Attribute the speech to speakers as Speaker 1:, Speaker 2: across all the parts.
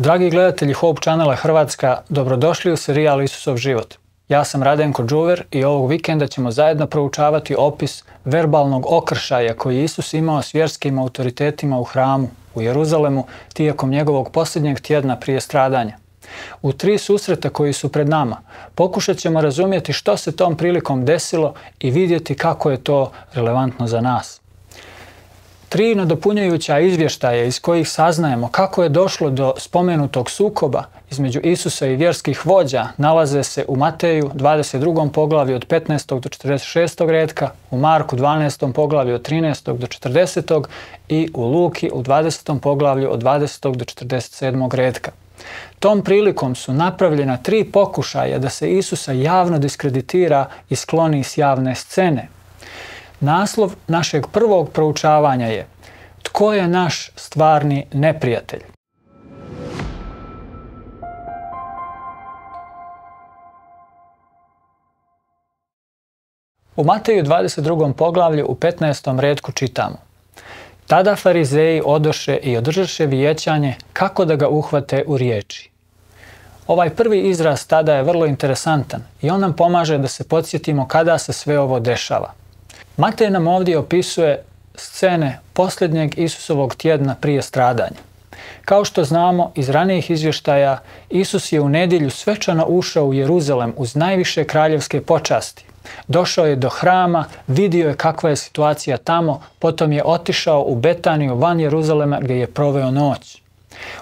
Speaker 1: Dragi gledatelji Hope Channela Hrvatska, dobrodošli u serijal Isusov život. Ja sam Radenko Đuver i ovog vikenda ćemo zajedno proučavati opis verbalnog okršaja koji je Isus imao s vjerskim autoritetima u hramu u Jeruzalemu tijekom njegovog posljednjeg tjedna prije stradanja. U 3 susreta koji su pred nama pokušat ćemo razumjeti što se tom prilikom desilo i vidjeti kako je to relevantno za nas. 3 nadopunjujuća izvještaja iz kojih saznajemo kako je došlo do spomenutog sukoba između Isusa i vjerskih vođa nalaze se u Mateju 22. poglavlju od 15. do 46. retka, u Marku 12. poglavlju od 13. do 40. i u Luki u 20. poglavlju od 20. do 47. retka. Tom prilikom su napravljena 3 pokušaja da se Isusa javno diskreditira i skloni s javne scene. Naslov našeg prvog proučavanja je Tko je naš stvarni neprijatelj? U Mateju 22. poglavlju u 15. retku čitamo: Tada farizeji odoše i održaše vijećanje kako da ga uhvate u riječi. Ovaj prvi izraz tada je vrlo interesantan i on nam pomaže da se podsjetimo kada se sve ovo dešava. Matej nam ovdje opisuje scene posljednjeg Isusovog tjedna prije stradanja. Kao što znamo iz ranijih izvještaja, Isus je u nedjelju svečano ušao u Jeruzalem uz najviše kraljevske počasti. Došao je do hrama, vidio je kakva je situacija tamo, potom je otišao u Betaniju van Jeruzalema gdje je proveo noć.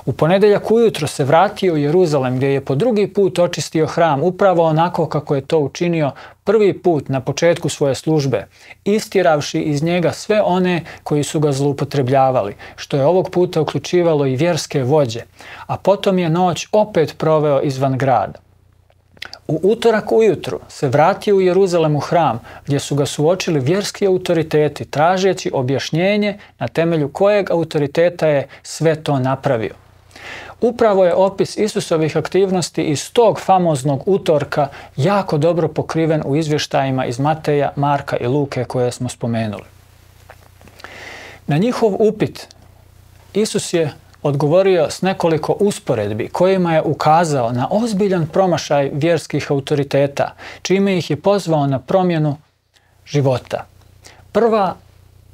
Speaker 1: U ponedjeljak ujutro se vratio u Jeruzalem gdje je po drugi put očistio hram, upravo onako kako je to učinio prvi put na početku svoje službe, istjeravši iz njega sve one koji su ga zloupotrebljavali, što je ovog puta uključivalo i vjerske vođe, a potom je noć opet proveo izvan grada. U utorak ujutru se vratio u Jeruzalem u hram gdje su ga suočili vjerski autoriteti tražeći objašnjenje na temelju kojeg autoriteta je sve to napravio. Upravo je opis Isusovih aktivnosti iz tog famoznog utorka jako dobro pokriven u izvještajima iz Mateja, Marka i Luke koje smo spomenuli. Na njihov upit Isus je odgovorio s nekoliko usporedbi kojima je ukazao na ozbiljan promašaj vjerskih autoriteta, čime ih je pozvao na promjenu života. Prva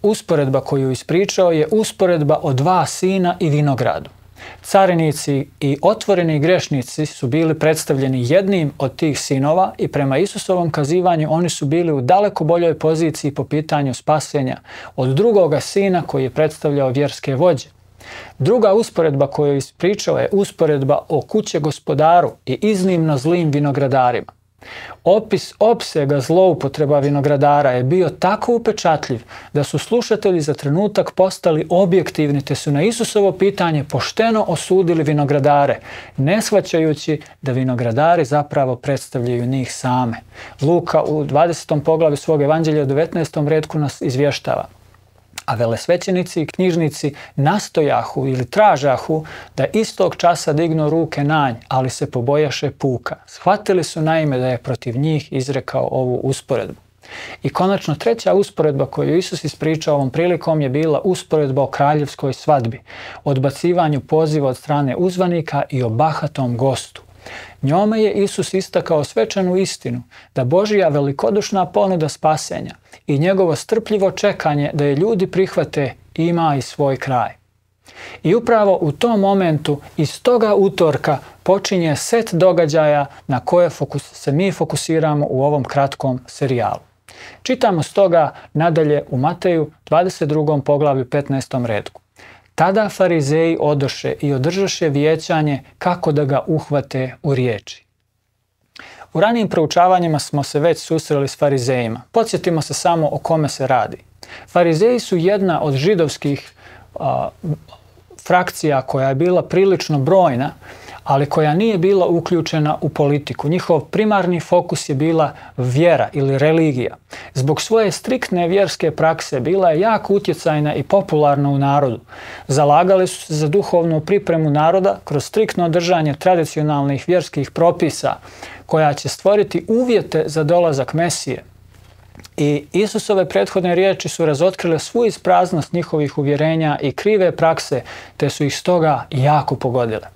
Speaker 1: usporedba koju ispričao je usporedba o 2 sina i vinogradu. Carinici i otvoreni grešnici su bili predstavljeni jednim od tih sinova i prema Isusovom kazivanju oni su bili u daleko boljoj poziciji po pitanju spasenja od drugoga sina koji je predstavljao vjerske vođe. Druga usporedba koju je ispričao je usporedba o kuće gospodaru i iznimno zlim vinogradarima. Opis opsega zloupotreba vinogradara je bio tako upečatljiv da su slušatelji za trenutak postali objektivni te su na Isusovo pitanje pošteno osudili vinogradare, ne shvaćajući da vinogradari zapravo predstavljaju njih same. Luka u 20. poglavlju svog evanđelja u 19. retku nas izvještava: A velesvećenici i knjižnici nastojahu ili tražahu da istog časa dignu ruke na nj, ali se pobojaše puka. Shvatili su naime da je protiv njih izrekao ovu usporedbu. I konačno 3. usporedba koju Isus ispričao ovom prilikom je bila usporedba o kraljevskoj svadbi, odbacivanju poziva od strane uzvanika i o bahatom gostu. Njome je Isus istakao svečanu istinu da Božja velikodušna ponuda spasenja i njegovo strpljivo čekanje da je ljudi prihvate ima i svoj kraj. I upravo u tom momentu iz toga utorka počinje set događaja na koje se mi fokusiramo u ovom kratkom serijalu. Čitamo stoga nadalje u Mateju 22. poglavlju 15. retku. Tada farizeji odoše i održaše vijećanje kako da ga uhvate u riječi. U ranijim proučavanjima smo se već susreli s farizejima. Podsjetimo se samo o kome se radi. Farizeji su jedna od židovskih frakcija koja je bila prilično brojna, ali koja nije bila uključena u politiku. Njihov primarni fokus je bila vjera ili religija. Zbog svoje striktne vjerske prakse bila je jako utjecajna i popularna u narodu. Zalagali su se za duhovnu pripremu naroda kroz striktno držanje tradicionalnih vjerskih propisa koja će stvoriti uvjete za dolazak Mesije. I Isusove prethodne riječi su razotkrile svu ispraznost njihovih uvjerenja i krive prakse, te su ih stoga jako pogodile.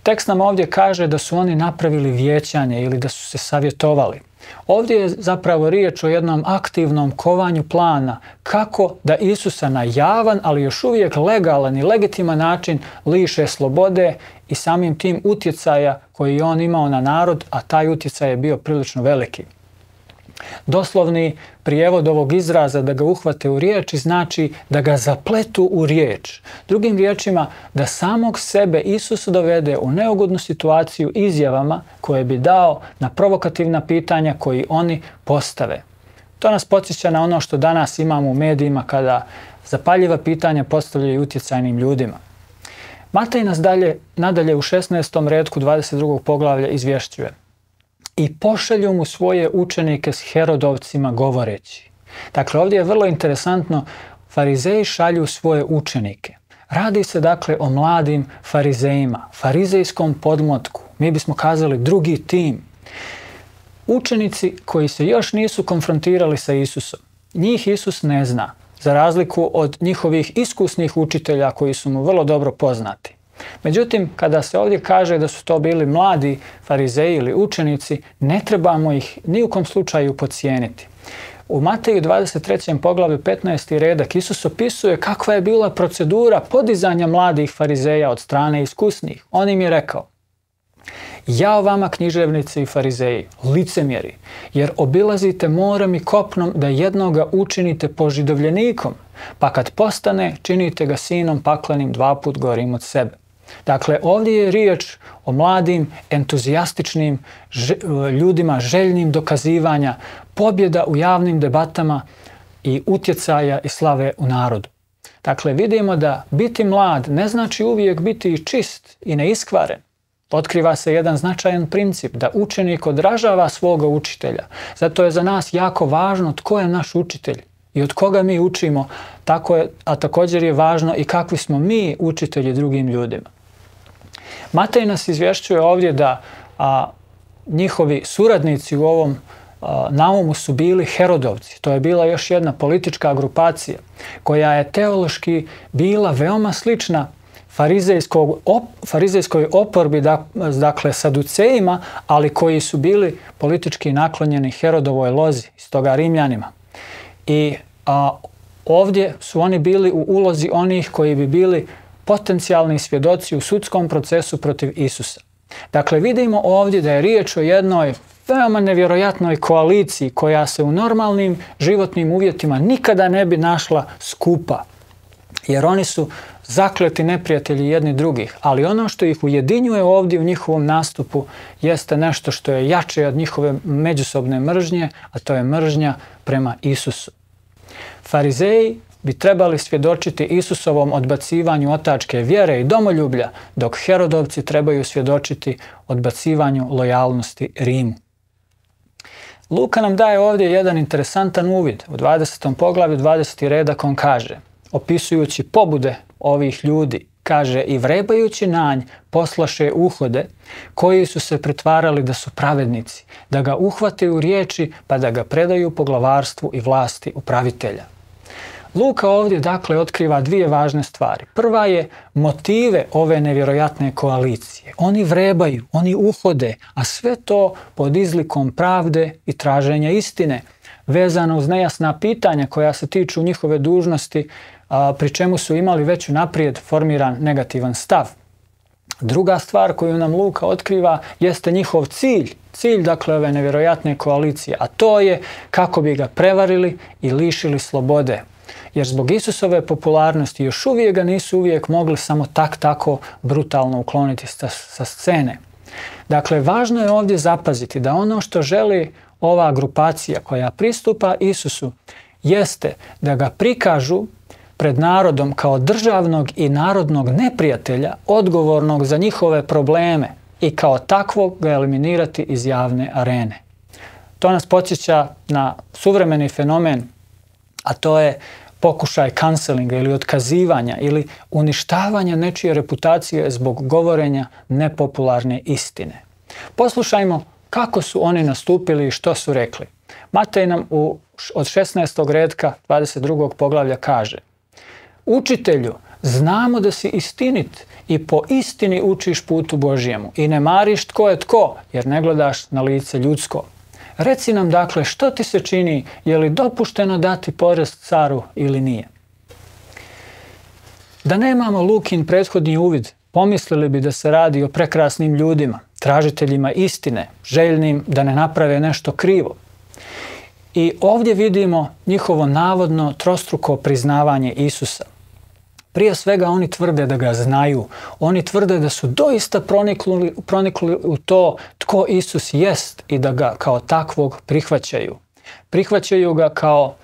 Speaker 1: Tekst nam ovdje kaže da su oni napravili vijećanje ili da su se savjetovali. Ovdje je zapravo riječ o jednom aktivnom kovanju plana kako da Isusa na javan, ali još uvijek legalan i legitiman način liše slobode i samim tim utjecaja koji je on imao na narod, a taj utjecaj je bio prilično veliki. Doslovni prijevod ovog izraza da ga uhvate u riječi znači da ga zapletu u riječ. Drugim riječima, da samog sebe Isus dovede u neugodnu situaciju izjavama koje bi dao na provokativna pitanja koji oni postave. To nas podsjeća na ono što danas imamo u medijima kada zapaljiva pitanja postavljaju utjecajnim ljudima. Matej nas nadalje u 16. retku 22. poglavlja izvješćuje: i pošalju mu svoje učenike s Herodovcima govoreći. Dakle, ovdje je vrlo interesantno, farizeji šalju svoje učenike. Radi se dakle o mladim farizejima, farizejskom podmlatku, mi bismo kazali drugi tim. Učenici koji se još nisu konfrontirali sa Isusom. Njih Isus ne zna, za razliku od njihovih iskusnih učitelja koji su mu vrlo dobro poznati. Međutim, kada se ovdje kaže da su to bili mladi farizeji ili učenici, ne trebamo ih ni u kom slučaju podcijeniti. U Mateju 23. poglavlju 15. redak Isus opisuje kakva je bila procedura podizanja mladih farizeja od strane iskusnih. On im je rekao: jao vama književnici i farizeji, licemjeri, jer obilazite morem i kopnom da jednoga učinite požidovljenikom, pa kad postane činite ga sinom paklenim 2 put gorim od sebe. Dakle, ovdje je riječ o mladim, entuzijastičnim ljudima, željnim dokazivanja, pobjeda u javnim debatama i utjecaja i slave u narodu. Dakle, vidimo da biti mlad ne znači uvijek biti čist i neiskvaren. Otkriva se jedan značajan princip da učenik odražava svoga učitelja. Zato je za nas jako važno tko je naš učitelj i od koga mi učimo, a također je važno i kakvi smo mi učitelji drugim ljudima. Matej nas izvješćuje ovdje da njihovi suradnici u ovom naumu su bili Herodovci. To je bila još jedna politička grupacija koja je teološki bila veoma slična farizejskoj oporbi, dakle Saducejima, ali koji su bili politički naklonjeni Herodovoj lozi, stoga Rimljanima. I ovdje su oni bili u ulozi onih koji bi bili potencijalni svjedoci u sudskom procesu protiv Isusa. Dakle, vidimo ovdje da je riječ o jednoj veoma nevjerojatnoj koaliciji koja se u normalnim životnim uvjetima nikada ne bi našla skupa. Jer oni su zakleti neprijatelji jedni drugih, ali ono što ih ujedinjuje ovdje u njihovom nastupu jeste nešto što je jače od njihove međusobne mržnje, a to je mržnja prema Isusu. Farizeji bi trebali svjedočiti Isusovom odbacivanju otačke vjere i domoljublja, dok Herodovci trebaju svjedočiti odbacivanju lojalnosti Rimu. Luka nam daje ovdje jedan interesantan uvid. U 20. poglavlju 20. redak on kaže, opisujući pobude ovih ljudi, kaže: i vrebajući na nj poslaše uhode koji su se pretvarali da su pravednici, da ga uhvate u riječi pa da ga predaju poglavarstvu i vlasti upravitelja. Luka ovdje dakle otkriva 2 važne stvari. Prva je motive ove nevjerojatne koalicije. Oni vrebaju, oni uhode, a sve to pod izlikom pravde i traženja istine, vezano uz nejasna pitanja koja se tiču njihove dužnosti, pri čemu su imali već unaprijed formiran negativan stav. Druga stvar koju nam Luka otkriva jeste njihov cilj dakle ove nevjerojatne koalicije, a to je kako bi ga prevarili i lišili slobode. Jer zbog Isusove popularnosti još uvijek ga nisu uvijek mogli samo tako brutalno ukloniti sa scene. Dakle, važno je ovdje zapaziti da ono što želi ova grupacija koja pristupa Isusu jeste da ga prikažu pred narodom kao državnog i narodnog neprijatelja odgovornog za njihove probleme i kao takvog ga eliminirati iz javne arene. To nas podsjeća na suvremeni fenomen, a to je pokušaj cancelinga ili otkazivanja ili uništavanja nečije reputacije zbog govorenja nepopularne istine. Poslušajmo kako su oni nastupili i što su rekli. Matej nam od 16. retka 22. poglavlja kaže: učitelju, znamo da si istinit i po istini učiš putu Božjemu i ne mariš tko je tko, jer ne gledaš na lice ljudsko. Reci nam dakle što ti se čini, je li dopušteno dati porez caru ili nije? Da nemamo Lukin prethodni uvid, pomislili bi da se radi o prekrasnim ljudima, tražiteljima istine, željnim da ne naprave nešto krivo. I ovdje vidimo njihovo navodno trostruko priznavanje Isusa. Prije svega oni tvrde da ga znaju, oni tvrde da su doista pronikli u to tko Isus jest i da ga kao takvog prihvaćaju. Prihvaćaju ga kao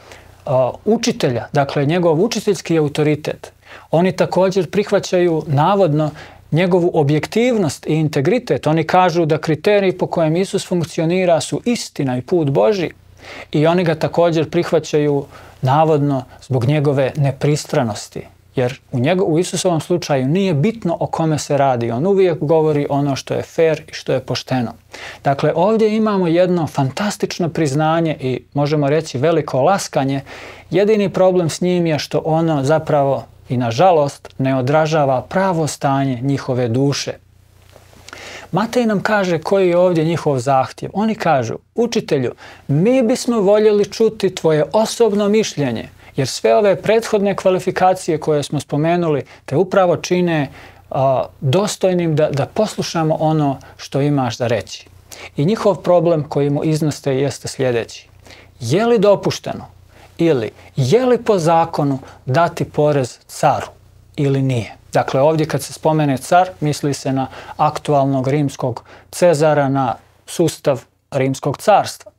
Speaker 1: učitelja, dakle njegov učiteljski autoritet. Oni također prihvaćaju navodno njegovu objektivnost i integritet. Oni kažu da kriteriji po kojem Isus funkcionira su istina i put Božji. I oni ga također prihvaćaju navodno zbog njegove nepristranosti. Jer u Isusovom slučaju nije bitno o kome se radi. On uvijek govori ono što je fer i što je pošteno. Dakle, ovdje imamo jedno fantastično priznanje i možemo reći veliko laskanje. Jedini problem s njim je što ono zapravo i nažalost ne odražava pravo stanje njihove duše. Matej nam kaže koji je ovdje njihov zahtjev. Oni kažu, učitelju, mi bismo voljeli čuti tvoje osobno mišljenje, jer sve ove prethodne kvalifikacije koje smo spomenuli te upravo čine dostojnim da poslušamo ono što imaš za reći. I njihov problem koji mu iznoste jeste sljedeći. Je li dopušteno ili je li po zakonu dati porez caru ili nije? Dakle, ovdje kad se spomene car, misli se na aktualnog rimskog Cezara, na sustav rimskog carstva.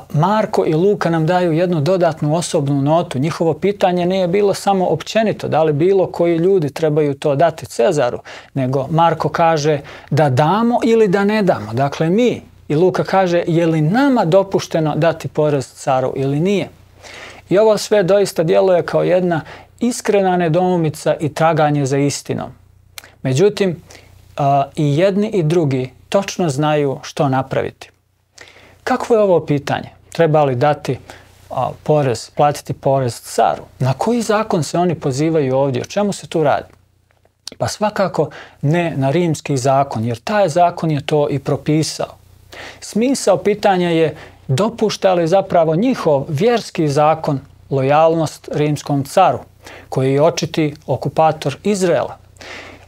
Speaker 1: Marko i Luka nam daju jednu dodatnu osobnu notu. Njihovo pitanje nije bilo samo općenito, da li bilo koji ljudi trebaju to dati Cezaru, nego Marko kaže da damo ili da ne damo. Dakle, mi. I Luka kaže, je li nama dopušteno dati porez caru ili nije? I ovo sve doista djeluje kao jedna iskrena nedoumica i traganje za istinom. Međutim, i jedni i drugi točno znaju što napraviti. Kakvo je ovo pitanje? Treba li dati porez, platiti porez caru? Na koji zakon se oni pozivaju ovdje? O čemu se tu radi? Pa svakako ne na rimski zakon, jer taj zakon je to i propisao. Smisao pitanja je dopušta li zapravo njihov vjerski zakon lojalnost rimskom caru, koji je očiti okupator Izraela.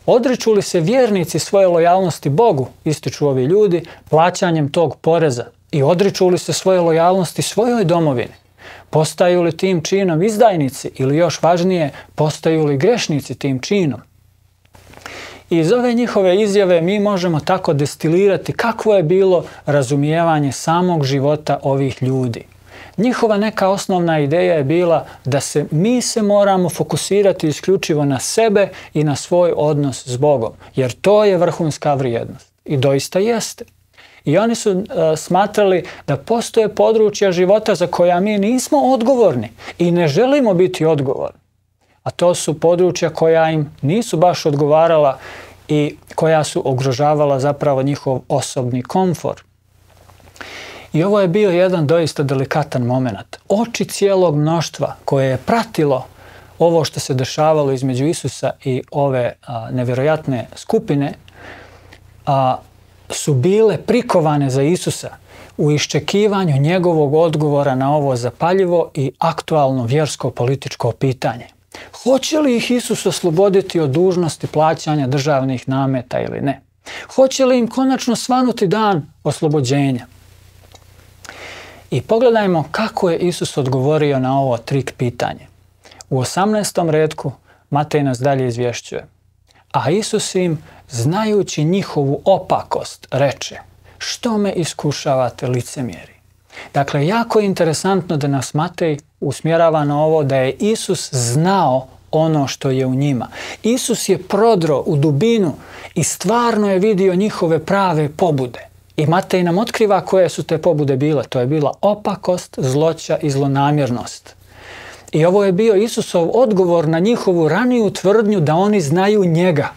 Speaker 1: Odriču li se vjernici svoje lojalnosti Bogu, ističu ovi ljudi, plaćanjem tog poreza, i odriču li se svoje lojalnosti svojoj domovini? Postaju li tim činom izdajnici ili još važnije, postaju li grešnici tim činom? I iz ove njihove izjave mi možemo tako destilirati kakvo je bilo razumijevanje samog života ovih ljudi. Njihova neka osnovna ideja je bila da mi se moramo fokusirati isključivo na sebe i na svoj odnos s Bogom, jer to je vrhunska vrijednost. I doista jeste. I oni su smatrali da postoje područja života za koja mi nismo odgovorni i ne želimo biti odgovorni. A to su područja koja im nisu baš odgovarala i koja su ugrožavala zapravo njihov osobni komfor. I ovo je bio jedan doista delikatan moment. Oči cijelog mnoštva koje je pratilo ovo što se dešavalo između Isusa i ove nevjerojatne skupine su bile prikovane za Isusa u iščekivanju njegovog odgovora na ovo zapaljivo i aktualno vjersko-političko pitanje. Hoće li ih Isus osloboditi od dužnosti plaćanja državnih nameta ili ne? Hoće li im konačno svanuti dan oslobođenja? I pogledajmo kako je Isus odgovorio na ovo trik pitanje. U 18. retku Matej nas dalje izvješćuje. A Isus im, znajući njihovu opakost, reče: što me iskušavate, licemjeri? Dakle, jako je interesantno da nas Matej usmjerava na ovo da je Isus znao ono što je u njima. Isus je prodro u dubinu i stvarno je vidio njihove prave pobude. I Matej nam otkriva koje su te pobude bile. To je bila opakost, zloća i zlonamjernost. I ovo je bio Isusov odgovor na njihovu raniju tvrdnju da oni znaju njega,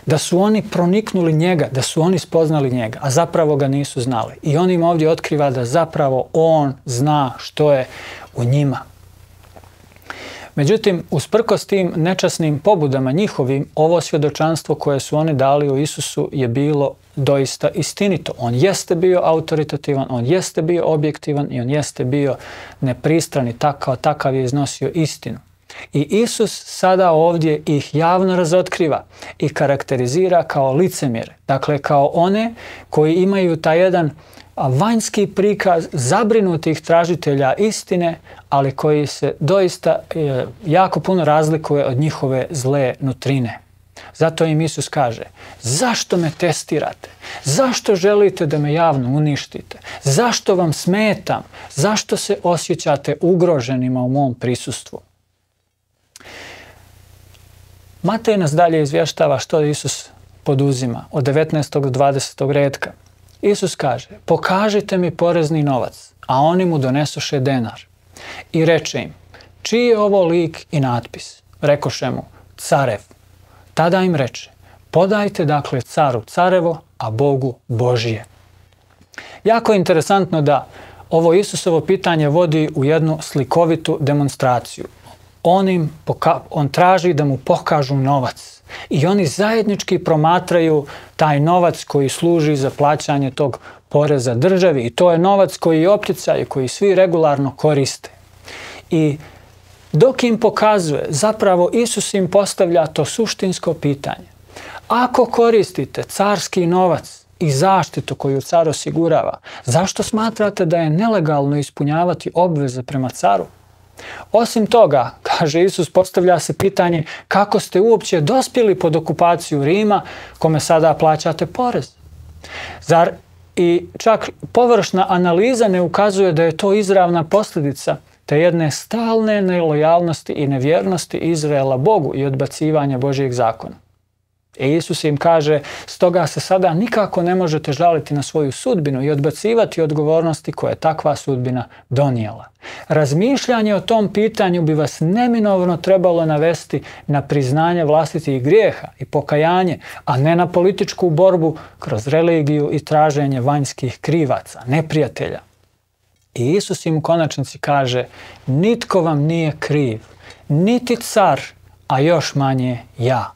Speaker 1: da su oni proniknuli njega, da su oni spoznali njega, a zapravo ga nisu znali. I on im ovdje otkriva da zapravo on zna što je u njima. Međutim, usprkos tim nečasnim pobudama njihovim, ovo svjedočanstvo koje su oni dali o Isusu je bilo doista istinito. On jeste bio autoritativan, on jeste bio objektivan i on jeste bio nepristran i takav je iznosio istinu. I Isus sada ovdje ih javno razotkriva i karakterizira kao licemjere. Dakle, kao one koji imaju taj jedan vanjski prikaz zabrinutih tražitelja istine, ali koji se doista jako puno razlikuje od njihove zle nutrine. Zato im Isus kaže: zašto me testirate? Zašto želite da me javno uništite? Zašto vam smetam? Zašto se osjećate ugroženima u mom prisustvu? Matej nas dalje izvještava što Isus poduzima od 19. do 20. retka. Isus kaže: pokažite mi porezni novac, a oni mu donesoše denar. I reče im: čiji je ovo lik i natpis? Rekoše mu: carev. Tada im reče: podajte dakle caru carevo, a Bogu Božije. Jako je interesantno da ovo Isusovo pitanje vodi u jednu slikovitu demonstraciju. On traži da mu pokažu novac i oni zajednički promatraju taj novac koji služi za plaćanje tog poreza državi i to je novac koji je opticaj, koji svi regularno koriste. I dok im pokazuje, zapravo Isus im postavlja to suštinsko pitanje. Ako koristite carski novac i zaštitu koju car osigurava, zašto smatrate da je nelegalno ispunjavati obveze prema caru? Osim toga, kaže Isus, postavlja se pitanje kako ste uopće dospjeli pod okupaciju Rima kome sada plaćate porez. Zar i čak površna analiza ne ukazuje da je to izravna posljedica te jedne stalne nelojalnosti i nevjernosti Izraela Bogu i odbacivanja Božjeg zakona? I Isus im kaže: stoga se sada nikako ne možete žaliti na svoju sudbinu i odbacivati odgovornosti koje je takva sudbina donijela. Razmišljanje o tom pitanju bi vas neminovno trebalo navesti na priznanje vlastitih grijeha i pokajanje, a ne na političku borbu kroz religiju i traženje vanjskih krivaca, neprijatelja. I Isus im u konačnici kaže: nitko vam nije kriv, niti car, a još manje ja.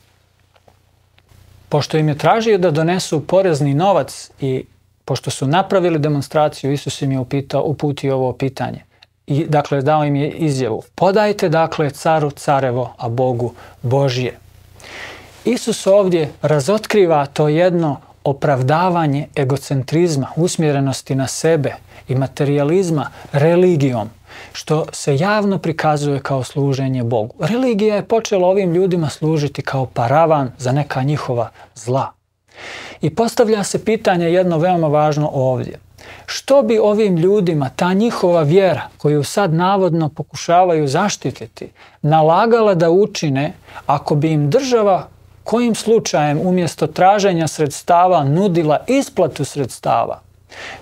Speaker 1: Pošto im je tražio da donesu porezni novac i pošto su napravili demonstraciju, Isus im je uputio ovo pitanje. I dakle dao im je izjavu: podajte dakle caru carevo, a Bogu Božije. Isus ovdje razotkriva to jedno opravdavanje egocentrizma, usmjerenosti na sebe i materijalizma religijom, što se javno prikazuje kao služenje Bogu. Religija je počela ovim ljudima služiti kao paravan za neka njihova zla. I postavlja se pitanje jedno veoma važno ovdje. Što bi ovim ljudima ta njihova vjera, koju sad navodno pokušavaju zaštititi, nalagala da učine ako bi im država kojim slučajem umjesto traženja sredstava nudila isplatu sredstava?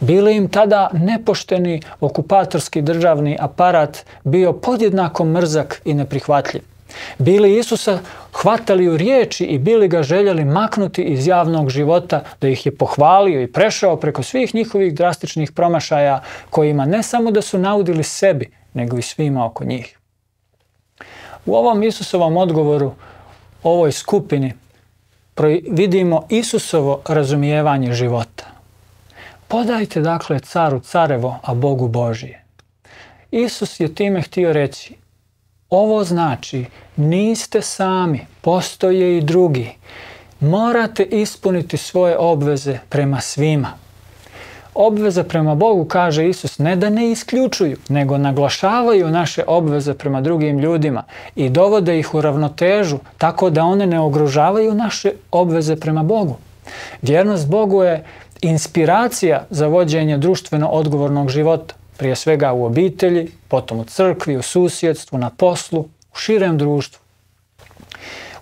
Speaker 1: Bili im tada nepošteni okupatorski državni aparat bio podjednako mrzak i neprihvatljiv? Bili Isusa hvatali u riječi i bili ga željeli maknuti iz javnog života da ih je pohvalio i prešao preko svih njihovih drastičnih promašaja kojima ne samo da su naudili sebi, nego i svima oko njih? U ovom Isusovom odgovoru ovoj skupini vidimo Isusovo razumijevanje života. Podajte dakle caru carevo, a Bogu Božije. Isus je time htio reći: ovo znači niste sami, postoje i drugi. Morate ispuniti svoje obveze prema svima. Obveze prema Bogu, kaže Isus, ne da ne isključuju, nego naglašavaju naše obveze prema drugim ljudima i dovode ih u ravnotežu tako da one ne ugrožavaju naše obveze prema Bogu. Vjernost Bogu je inspiracija za vođenje društveno odgovornog života, prije svega u obitelji, potom u crkvi, u susjedstvu, na poslu, u širem društvu.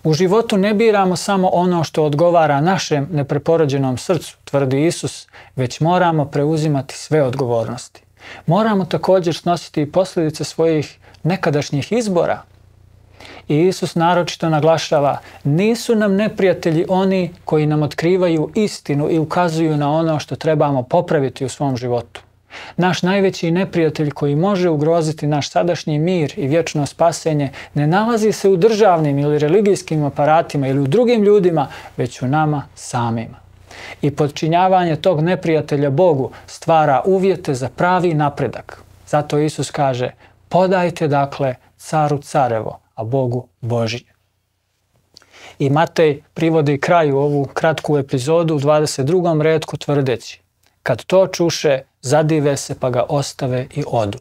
Speaker 1: U životu ne biramo samo ono što odgovara našem nepreporođenom srcu, tvrdi Isus, već moramo preuzimati sve odgovornosti. Moramo također snositi i posljedice svojih nekadašnjih izbora. I Isus naročito naglašava: nisu nam neprijatelji oni koji nam otkrivaju istinu i ukazuju na ono što trebamo popraviti u svom životu. Naš najveći neprijatelj koji može ugroziti naš sadašnji mir i vječno spasenje ne nalazi se u državnim ili religijskim aparatima ili u drugim ljudima, već u nama samima. I podčinjavanje tog neprijatelja Bogu stvara uvjete za pravi napredak. Zato Isus kaže: podajte dakle caru carevo, a Bogu Božje. I Matej privodi kraju ovu kratku epizodu u 22. retku tvrdeći: kad to čuše, zadive se pa ga ostave i odu.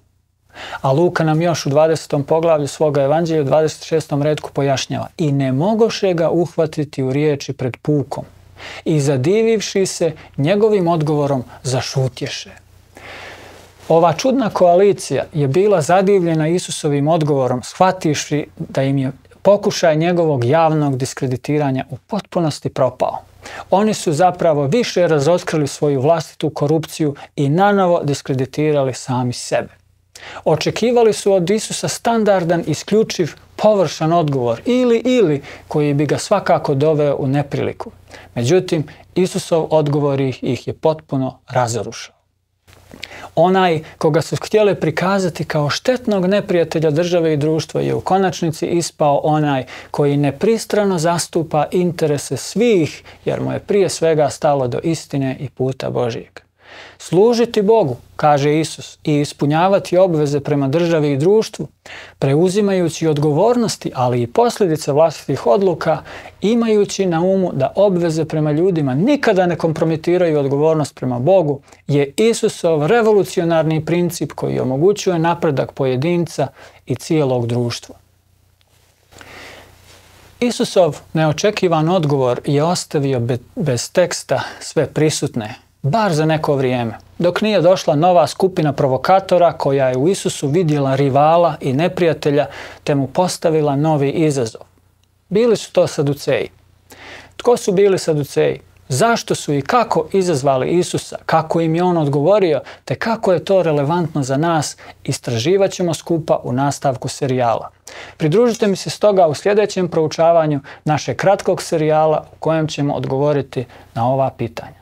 Speaker 1: A Luka nam još u 20. poglavlju svoga evanđelja u 26. retku pojašnjava: i ne mogoše ga uhvatiti u riječi pred pukom. I zadivivši se njegovim odgovorom, zašutješe. Ova čudna koalicija je bila zadivljena Isusovim odgovorom, shvativši da im je pokušaj njegovog javnog diskreditiranja u potpunosti propao. Oni su zapravo više razotkrili svoju vlastitu korupciju i nanovo diskreditirali sami sebe. Očekivali su od Isusa standardan, isključiv, površan odgovor ili koji bi ga svakako doveo u nepriliku. Međutim, Isusov odgovor ih je potpuno razorušao. Onaj koga su htjeli prikazati kao štetnog neprijatelja države i društva je u konačnici ispao onaj koji nepristrano zastupa interese svih, jer mu je prije svega stalo do istine i puta Božijeg. Služiti Bogu, kaže Isus, i ispunjavati obveze prema državi i društvu, preuzimajući odgovornosti, ali i posljedice vlastitih odluka, imajući na umu da obveze prema ljudima nikada ne kompromitiraju odgovornost prema Bogu, je Isusov revolucionarni princip koji omogućuje napredak pojedinca i cijelog društva. Isusov neočekivan odgovor je ostavio bez teksta sve prisutne, bar za neko vrijeme, dok nije došla nova skupina provokatora koja je u Isusu vidjela rivala i neprijatelja te mu postavila novi izazov. Bili su to Saduceji. Tko su bili Saduceji? Zašto su i kako izazvali Isusa? Kako im je on odgovorio? Te kako je to relevantno za nas? Istraživat ćemo skupa u nastavku serijala. Pridružite mi se stoga u sljedećem proučavanju našeg kratkog serijala u kojem ćemo odgovoriti na ova pitanja.